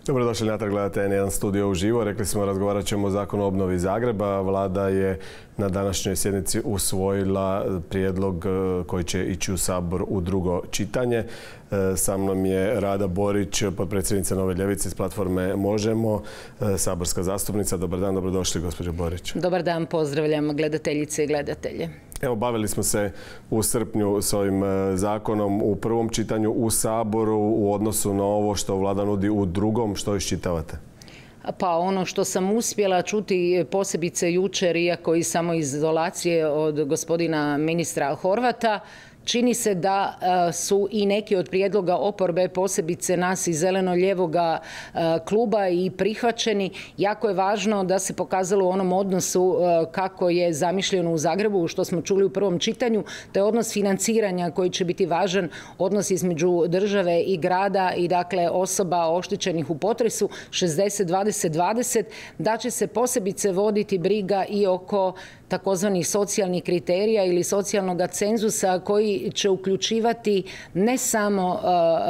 Dobrodošli natrag, gledate N1 studio uživo. Rekli smo, razgovarat ćemo o Zakonu o obnovi Zagreba. Vlada je na današnjoj sjednici usvojila prijedlog koji će ići u Sabor u drugo čitanje. Sa mnom je Rada Borić, potpredsjednica Nove ljevice iz platforme Možemo, saborska zastupnica. Dobar dan, dobrodošli gospođo Borić. Dobar dan, pozdravljam gledateljice i gledatelje. Evo, bavili smo se u srpnju s ovim zakonom u prvom čitanju u Saboru u odnosu na ovo što Vlada nudi u drugom. Što iščitavate? Pa ono što sam uspjela čuti posebice jučer, iako i samo iz izolacije od gospodina ministra Horvata, čini se da su i neki od prijedloga oporbe, posebice nas iz zeleno-ljevoga kluba, i prihvaćeni. Jako je važno da se pokazalo u onom odnosu kako je zamišljeno u Zagrebu, što smo čuli u prvom čitanju, to je odnos financiranja koji će biti važan, odnos između države i grada i dakle osoba oštećenih u potresu 60-20-20, da će se posebice voditi briga i oko takozvanih socijalnih kriterija ili socijalnog cenzusa koji će uključivati ne samo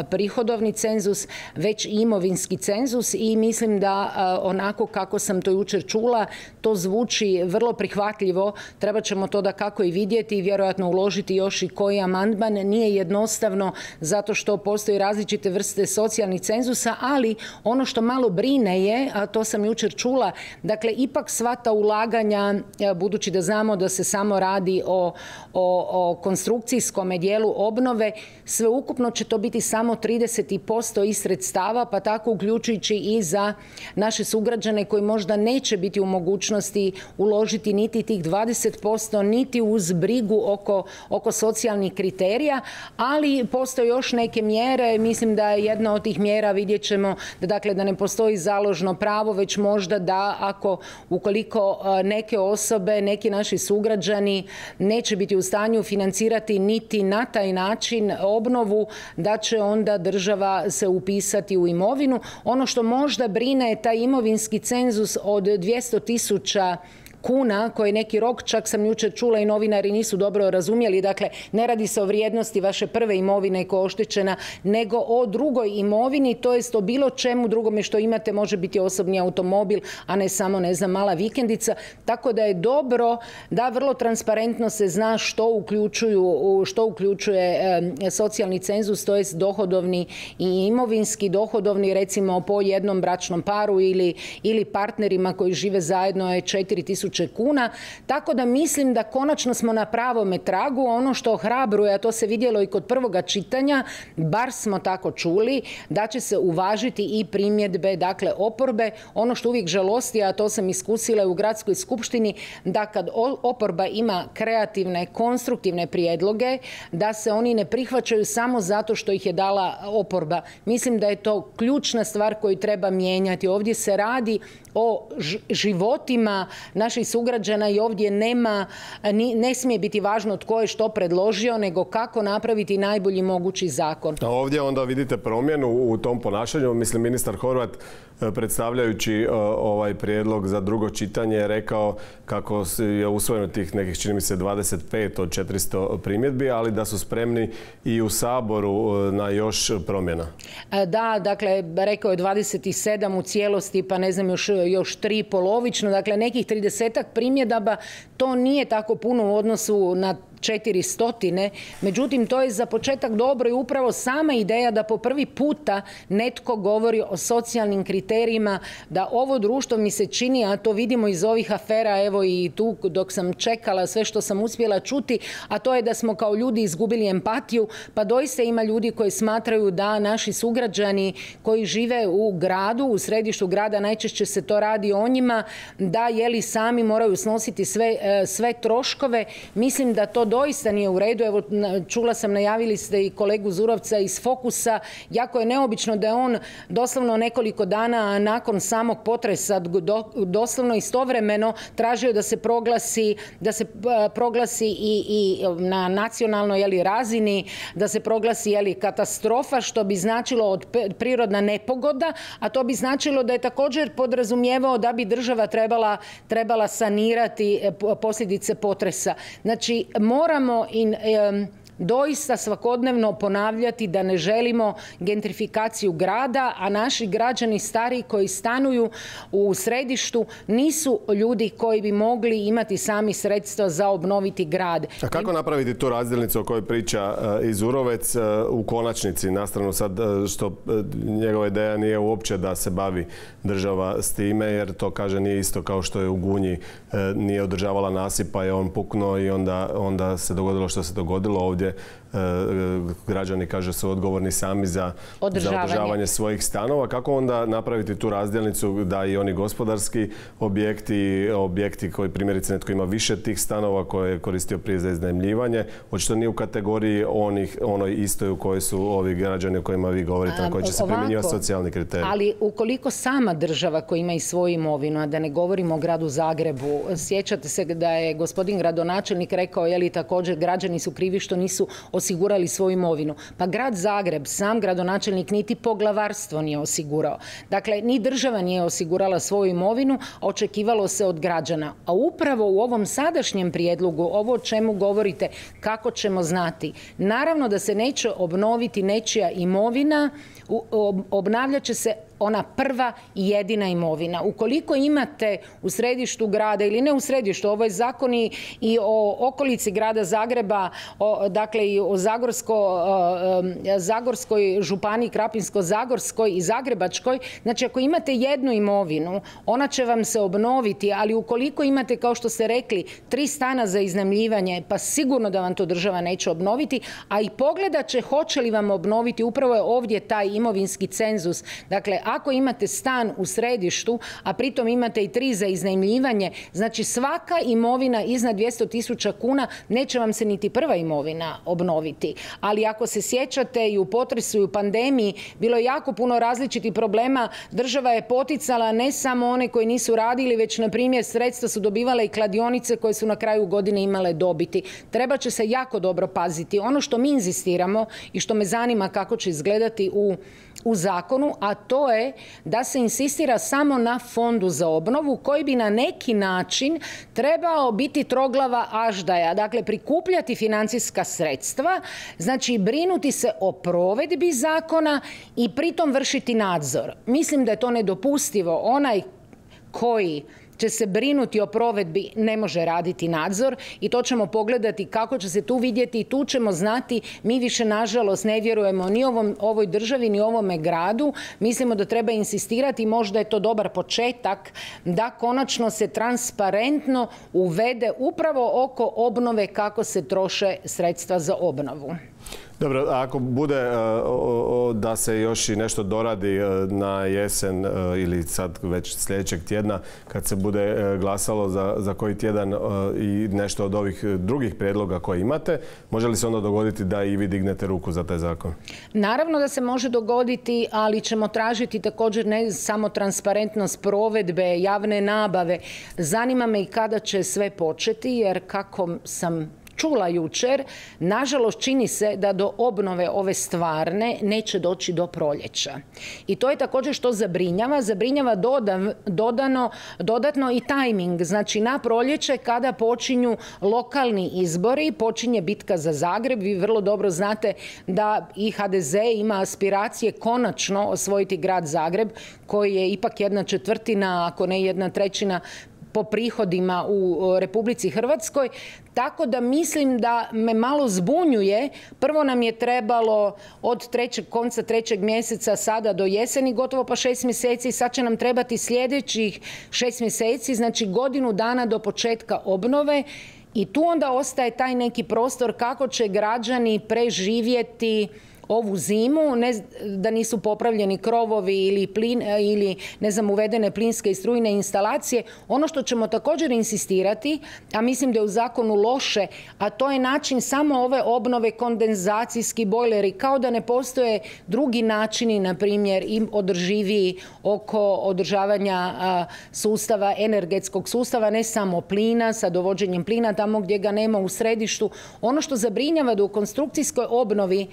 prihodovni cenzus, već i imovinski cenzus, i mislim da onako kako sam to jučer čula, to zvuči vrlo prihvatljivo. Treba ćemo to dakako i vidjeti i vjerojatno uložiti još i koji amandman. Nije jednostavno zato što postoji različite vrste socijalnih cenzusa, ali ono što malo brine je, a to sam jučer čula, dakle ipak sva ta ulaganja, budući da znamo da se samo radi o konstrukcijskom dijelu obnove, sveukupno će to biti samo 30% iz sredstava, pa tako uključujući i za naše sugrađane koji možda neće biti u mogućnosti uložiti niti tih 20%, niti uz brigu oko socijalnih kriterija, ali postoje još neke mjere. Mislim da je jedna od tih mjera, vidjet ćemo, da ne postoji založno pravo, već možda da ukoliko neke osobe, neki naši sugrađani neće biti u stanju financirati niti na taj način obnovu, da će onda država se upisati u imovinu. Ono što možda brine je taj imovinski cenzus od 200.000 kuna, koji je neki rok, čak sam jučer čula i novinari nisu dobro razumjeli. Dakle, ne radi se o vrijednosti vaše prve imovine koja je oštećena, nego o drugoj imovini, to jest o bilo čemu drugome što imate, može biti osobni automobil, a ne samo, mala vikendica. Tako da je dobro da vrlo transparentno se zna što uključuje socijalni cenzus, to jest dohodovni i imovinski. Dohodovni, recimo po jednom bračnom paru ili partnerima koji žive zajedno, je 4.000 kuna, tako da mislim da konačno smo na pravome tragu. Ono što ohrabruje, a to se vidjelo i kod prvoga čitanja, bar smo tako čuli, da će se uvažiti i primjedbe oporbe. Ono što uvijek žalosti, a to sam iskusila u gradskoj skupštini, da kad oporba ima kreativne, konstruktivne prijedloge, da se oni ne prihvaćaju samo zato što ih je dala oporba. Mislim da je to ključna stvar koju treba mijenjati. Ovdje se radi o životima naših sugrađana i ovdje ne smije biti važno tko je što predložio, nego kako napraviti najbolji mogući zakon. A ovdje onda vidite promjenu u tom ponašanju. Mislim, ministar Horvat, predstavljajući ovaj prijedlog za drugo čitanje, je rekao kako je usvojeno tih nekih, čini mi se, 25 od 400 primjedbi, ali da su spremni i u Saboru na još promjena. Da, dakle, rekao je 27 u cijelosti, pa ne znam, još 3 polovično. Dakle, nekih 30-ak primjedaba, to nije tako puno u odnosu na 400. Međutim, to je za početak dobro i upravo sama ideja da po prvi puta netko govori o socijalnim kriterijima, da ovo društvo, mi se čini, a to vidimo iz ovih afera, evo i tu dok sam čekala sve što sam uspjela čuti, a to je da smo kao ljudi izgubili empatiju, pa doista ima ljudi koji smatraju da naši sugrađani koji žive u gradu, u središtu grada, najčešće se to radi o njima, da sami moraju snositi sve troškove. Mislim da to doista nije u redu. Evo, čula sam, najavili ste i kolegu Zurovca iz Fokusa. Jako je neobično da je on doslovno nekoliko dana nakon samog potresa, doslovno istovremeno, tražio da se proglasi i na nacionalnoj razini, da se proglasi katastrofa, što bi značilo prirodna nepogoda, a to bi značilo da je također podrazumijevao da bi država trebala sanirati posljedice potresa. Znači, moramo doista svakodnevno ponavljati da ne želimo gentrifikaciju grada, a naši građani stariji koji stanuju u središtu nisu ljudi koji bi mogli imati sami sredstva za obnoviti grad. A kako napraviti tu razdjelnicu o kojoj priča Izurovec u konačnici, na stranu sad što njegova ideja nije uopće da se bavi država s time, jer to kaže nije isto kao što je u Gunji nije održavala nasip pa je on puknuo i onda se dogodilo što se dogodilo. Ovdje građani kaže su odgovorni sami za održavanje svojih stanova. Kako onda napraviti tu razdjelnicu da i oni gospodarski objekti koji primjerice netko ima više tih stanova koje je koristio prije za iznajmljivanje, očito nije u kategoriji onoj istoj u kojoj su ovi građani o kojima vi govorite, na koji će se primjenjivati socijalni kriteriji. Ali ukoliko sama država koja ima i svoju imovinu, a da ne govorimo o gradu Zagrebu, sjećate se da je gospodin gradonačelnik rekao, je li također građani su krivi što nisu osigurali svoju imovinu. Pa grad Zagreb, sam gradonačelnik niti poglavarstvo nije osigurao. Dakle, ni država nije osigurala svoju imovinu, a očekivalo se od građana. A upravo u ovom sadašnjem prijedlogu, ovo o čemu govorite, kako ćemo znati? Naravno da se neće obnoviti nečija imovina, obnavljat će se ona prva i jedina imovina. Ukoliko imate u središtu grada ili ne u središtu, ovo je zakon i o okolici grada Zagreba, dakle i o Zagorskoj županiji, Krapinsko-zagorskoj i Zagrebačkoj, znači ako imate jednu imovinu, ona će vam se obnoviti, ali ukoliko imate, kao što ste rekli, 3 stana za iznajmljivanje, pa sigurno da vam to država neće obnoviti, a i pogledat će hoće li vam obnoviti, upravo je ovdje taj imovinski cenzus. Dakle, ako imate stan u središtu, a pritom imate i 3 za iznajmljivanje, znači svaka imovina iznad 200.000 kuna neće vam se niti prva imovina obnoviti. Ali ako se sjećate i u potresu i u pandemiji, bilo je jako puno različitih problema. Država je poticala ne samo one koji nisu radili, već na primjer sredstva su dobivale i kladionice koje su na kraju godine imale dobiti. Treba će se jako dobro paziti. Ono što mi inzistiramo i što me zanima kako će izgledati u zakonu, a to je da se insistira samo na fondu za obnovu koji bi na neki način trebao biti troglava aždaja, dakle prikupljati financijska sredstva, znači brinuti se o provedbi zakona i pritom vršiti nadzor. Mislim da je to nedopustivo. Onaj koji će se brinuti o provedbi ne može raditi nadzor i to ćemo pogledati kako će se tu vidjeti i tu ćemo znati. Mi više nažalost ne vjerujemo ni ovoj državi ni ovome gradu. Mislimo da treba insistirati, možda je to dobar početak, da konačno se transparentno uvede upravo oko obnove kako se troše sredstva za obnovu. Dobro, ako bude da se još i nešto doradi na jesen ili sad već sljedećeg tjedna kad se bude glasalo za koji tjedan i nešto od ovih drugih prijedloga koje imate, može li se onda dogoditi da i vi dignete ruku za taj zakon? Naravno da se može dogoditi, ali ćemo tražiti također ne samo transparentnost provedbe, javne nabave. Zanima me i kada će sve početi, jer kako sam čula jučer, nažalost čini se da do obnove ove stvarne neće doći do proljeća. I to je također što zabrinjava. Zabrinjava dodatno i tajming. Znači na proljeće kada počinju lokalni izbori, počinje bitka za Zagreb. Vi vrlo dobro znate da i HDZ ima aspiracije konačno osvojiti grad Zagreb, koji je ipak 1/4, ako ne 1/3 po prihodima u Republici Hrvatskoj. Tako da mislim da me malo zbunjuje. Prvo nam je trebalo od konca 3. mjeseca sada do jeseni gotovo pa 6 mjeseci. Sad će nam trebati sljedećih 6 mjeseci, znači godinu dana do početka obnove. I tu onda ostaje taj neki prostor kako će građani preživjeti ovu zimu, da nisu popravljeni krovovi ili uvedene plinske i strujne instalacije. Ono što ćemo također insistirati, a mislim da je u zakonu loše, a to je način samo ove obnove, kondenzacijski bojleri, kao da ne postoje drugi načini, na primjer i održiviji oko održavanja sustava, energetskog sustava, ne samo plina, sa dovođenjem plina tamo gdje ga nema u središtu. Ono što zabrinjava da u konstrukcijskoj obnovi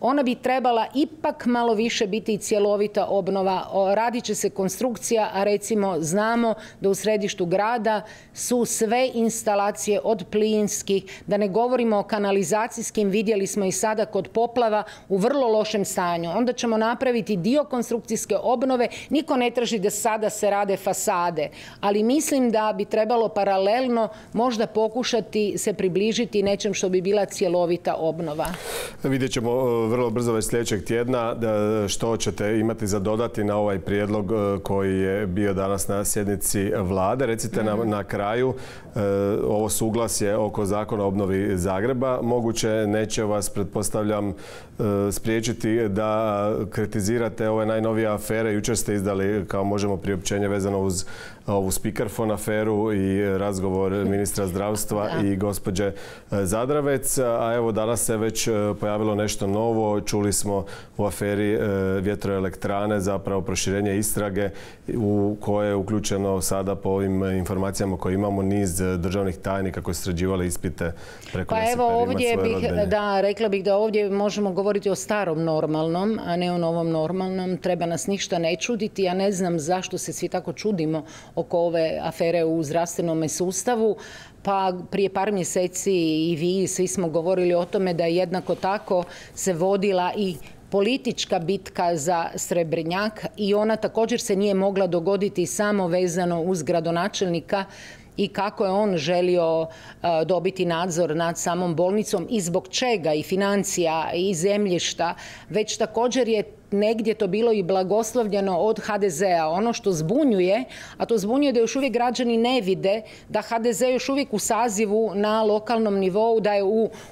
ona bi trebala ipak malo više biti cjelovita obnova. Radit će se konstrukcija, a recimo znamo da u središtu grada su sve instalacije od plinskih, da ne govorimo o kanalizacijskim, vidjeli smo i sada kod poplava, u vrlo lošem stanju. Onda ćemo napraviti dio konstrukcijske obnove. Niko ne traži da sada se rade fasade, ali mislim da bi trebalo paralelno možda pokušati se približiti nečem što bi bila cjelovita obnova. Vidjet ćemo vrlo brzo već sljedećeg tjedna što ćete imati za dodati na ovaj prijedlog koji je bio danas na sjednici vlade. Recite nam na kraju ovo suglasje oko zakona o obnovi Zagreba. Moguće neće vas, pretpostavljam, spriječiti da kritizirate ove najnovije afere. Jučer ste izdali, kao možemo, priopćenje vezano uz ovu speakerphone aferu i razgovor ministra zdravstva i gospođe Zadravec. A evo, danas se već pojavilo nešto novo. Čuli smo u aferi vjetroelektrane zapravo proširenje istrage u koje je uključeno sada, po ovim informacijama koje imamo, niz državnih tajnika koji su sređivali ispite preko Pa evo, ovdje rekla bih da ovdje možemo govoriti o starom normalnom, a ne o novom normalnom. Treba nas ništa ne čuditi. Ja ne znam zašto se svi tako čudimo oko ove afere u zdravstvenom sustavu. Pa prije par mjeseci i vi svi smo govorili o tome da jednako tako se vodila i politička bitka za Srebrnjak i ona također se nije mogla dogoditi samo vezano uz gradonačelnika i kako je on želio dobiti nadzor nad samom bolnicom i zbog čega, i financija i zemljišta, već također je negdje to bilo i blagoslovljeno od HDZ-a. Ono što zbunjuje, a to zbunjuje da još uvijek građani ne vide da HDZ još uvijek u sazivu na lokalnom nivou, da je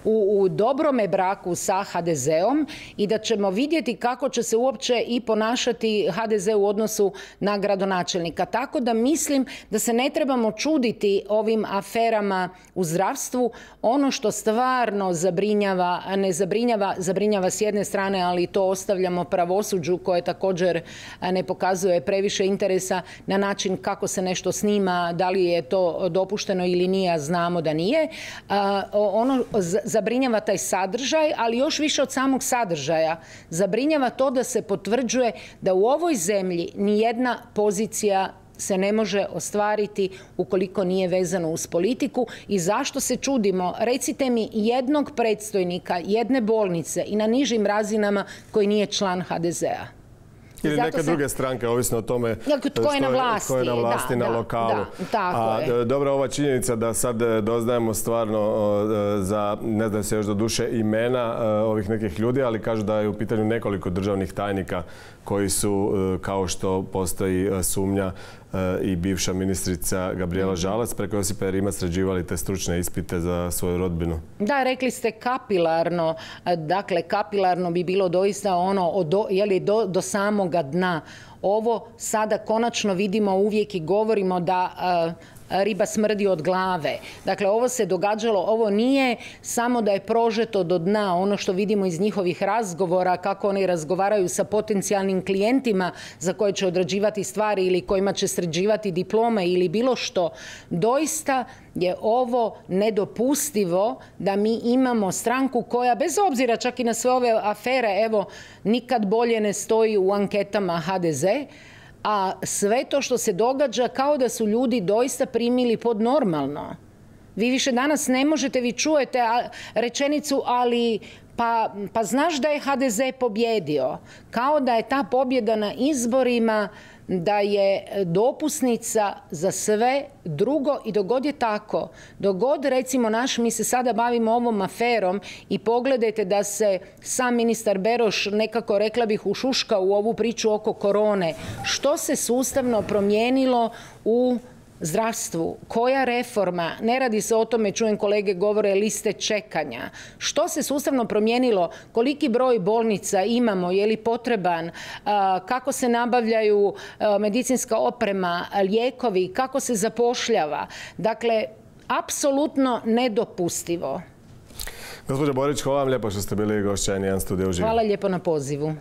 u dobrome braku sa HDZ-om i da ćemo vidjeti kako će se uopće i ponašati HDZ u odnosu na gradonačelnika. Tako da mislim da se ne trebamo čuditi ovim aferama u zdravstvu. Ono što stvarno zabrinjava, ne zabrinjava, zabrinjava s jedne strane, ali to ostavljamo pravosuđu koje također ne pokazuje previše interesa na način kako se nešto snima, da li je to dopušteno ili nije, a znamo da nije. Ono zabrinjava taj sadržaj, ali još više od samog sadržaja zabrinjava to da se potvrđuje da u ovoj zemlji nijedna pozicija se ne može ostvariti ukoliko nije vezano uz politiku. I zašto se čudimo? Recite mi jednog predstojnika jedne bolnice i na nižim razinama koji nije član HDZ-a. Ili neke druge stranke, ovisno o tome tko je na vlasti na lokalu. Dobro, ova činjenica da sad doznajemo stvarno za, ne znam se još do duše, imena ovih nekih ljudi, ali kažu da je u pitanju nekoliko državnih tajnika koji su, kao što postoji sumnja, i bivša ministrica Gabrijela Žalac preko Josipa Rimac sređivali te stručne ispite za svoju rodbinu. Da, rekli ste kapilarno. Dakle, kapilarno bi bilo doista ono do samoga dna. Ovo sada konačno vidimo uvijek i govorimo da riba smrdi od glave. Dakle, ovo se događalo, ovo nije samo da je prožeto do dna, ono što vidimo iz njihovih razgovora, kako oni razgovaraju sa potencijalnim klijentima za koje će odrađivati stvari ili kojima će sređivati diplome ili bilo što. Doista je ovo nedopustivo da mi imamo stranku koja, bez obzira čak i na sve ove afere, evo, nikad bolje ne stoji u anketama HDZ, a sve to što se događa kao da su ljudi doista primili pod normalno. Vi više danas ne možete, vi čujete rečenicu, ali pa znaš da je HDZ pobjedio. Kao da je ta pobjeda na izborima, da je dopusnica za sve drugo. I dogod je tako, dogod recimo mi se sada bavimo ovom aferom i pogledajte da se sam ministar Beroš nekako, rekla bih, ušuška u ovu priču oko korone. Što se sustavno promijenilo u zdravstvu? Koja reforma? Ne radi se o tome, čujem kolege govore, liste čekanja. Što se sustavno promijenilo? Koliki broj bolnica imamo? Je li potreban? Kako se nabavljaju medicinska oprema, lijekovi? Kako se zapošljava? Dakle, apsolutno nedopustivo. Gospođo Borić, hvala vam lijepo što ste bili gošća N1 Studija uživo. Hvala lijepo na pozivu.